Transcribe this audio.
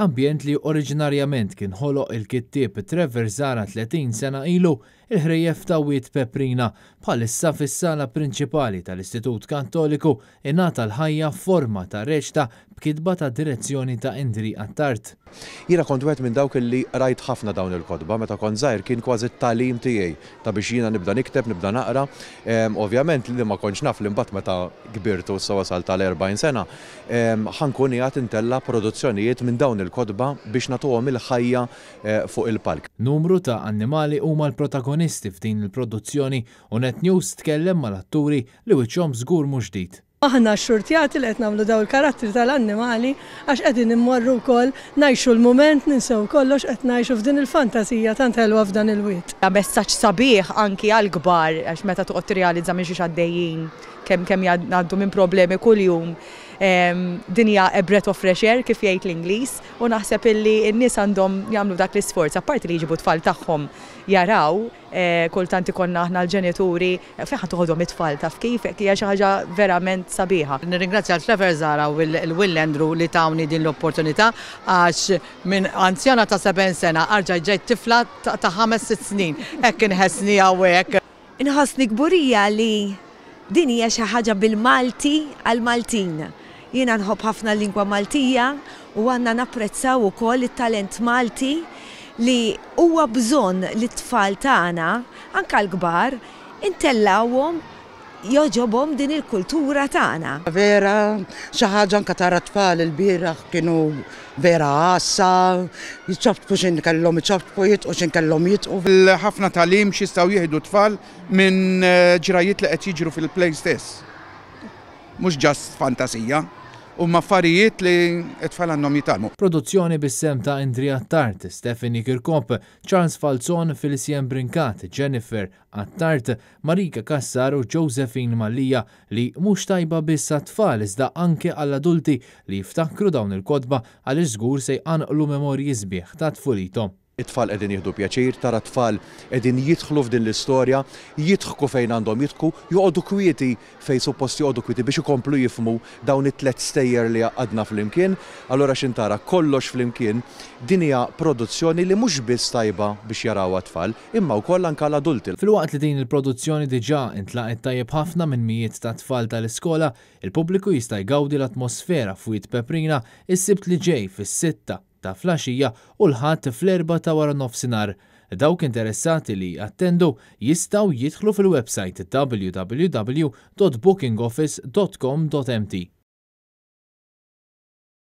Ambjent li oriġinarjament kien ħoloq il-kittieb Trevor Zahra 30 sena ilu, il-ħrejjef ta' Wied Peprina, bħalissa fis-sala prinċipali tal-Istitut Kattoliku ingħata l-ħajja f'forma ta' reċta b'kitba ta' direzzjoni ta' Indri Attard. Jiena kont wieħed minn dawk li qrajt ħafna dawn il-kotba, meta kont żgħir kien kważi t-tagħlim tiegħi ta' biex jiena nibda nikteb, nibda naqra. Ovvjament li ma kontx naf li mbagħad meta kbirt u issa wasalt għal 40 sena, ħa nkun qiegħed intella' produzzjonijiet minn dawn il-kotba biex nagħtuhom il-ħajja fuq il-palk. Numru ta' annimali huma l-protagonisti f'din il-produzzjoni u Net News tkellem mal-atturi li wiċċhom żgur mhux ġdid. Aħna xxurtjati li qed nagħmlu dawn il-karattri tal-annimali għax qegħdin immorru wkoll ngħixu l-mument, ninsew kollox qed ngħixu f'din il-fantasija tant ħelwa f'dan il-wied. Messaġġ sabiħ anki għall-kbar għax meta toqgħod tirrealizza minn xiex għaddejjin, kemm kemm ngħaddu minn problemi kuljum, din hija a breath of fresh air kif jgħid l-Ingliż u naħseb illi n-nies għandhom jagħmlu dak l-isforz apparti li jġibu t-tfal tagħhom jaraw, kultant ikollna aħna l-ġenituri fejn ħa toħodhom it-tfal taf kif, hija xi ħaġa verament sabiħa. Nirringrazzja lil Trevor Zahra u lil Will Andrew li tawni din l-opportunità għax minn anzjana ta' 70 sena arġajt ġejt tifla ta' ħames sitt snin. Hekk inħessni hawnhekk. Inħossni kburija li din hija xi ħaġa bil-Malti għall-Maltin. Jiena nħobb ħafna l-lingwa Maltija u għandna napprezzaw ukoll it-talent Malti li huwa bżonn li t-tfal tagħna, anke l-kbar, intellgħuhom jogħġobhom din il-kultura tagħna. Vera xi ħaġa anke tara t-tfal ilbieraħ kienu vera għassa, jċapċpu x'in kellhom iċapċpu, jidqu x'in kellhom jidqu. Ħafna tagħlim x'jistgħu jieħdu t-tfal minn ġrajjiet li qed jiġru fil-play stess. Mhux just fantasija, huma affarijiet li t-tfal għandhom jitgħallmu. Produzzjoni bis-sehem ta' Indri Attard, Stephanie Kirkop, Charles Falzon, Felicien Brincat, Jennifer Attard, Marika Cassar u Josephine Mallia li mhux tajba biss għat-tfal iżda anke għall-adulti li jiftakru dawn il-kotba għaliex żgur se jqanqlu memorji sbieħ ta' tfulithom. It-tfal qegħdin jieħdu pjaċir, tara t-tfal qegħdin jidħlu f'din l-istorja, jidħku fejn għandhom jidħku, joqogħdu kwieti fejn suppost joqogħdu kwieti biex ikomplu jifhmu dawn it-tliet stejjer li għaqqadna flimkien. Allura x'in tara kollox flimkien, din hija produzzjoni li mhux biss tajba biex jarawha t-tfal, imma wkoll anke l-adulti. Filwaqt li din il-produzzjoni diġà intlaqgħet tajjeb ħafna minn mijiet ta' tfal tal-iskola, il-pubbliku jista' jgawdi l-atmosfera f'Wied Peprina s-Sibt li ġej fis-sitta ta' flaxija u l-Ħadd fl-erbgħa ta' waranofsinhar. Dawk interessati li jattendu jistgħu jidħlu fil-websajt www.bookingoffice.com.mt.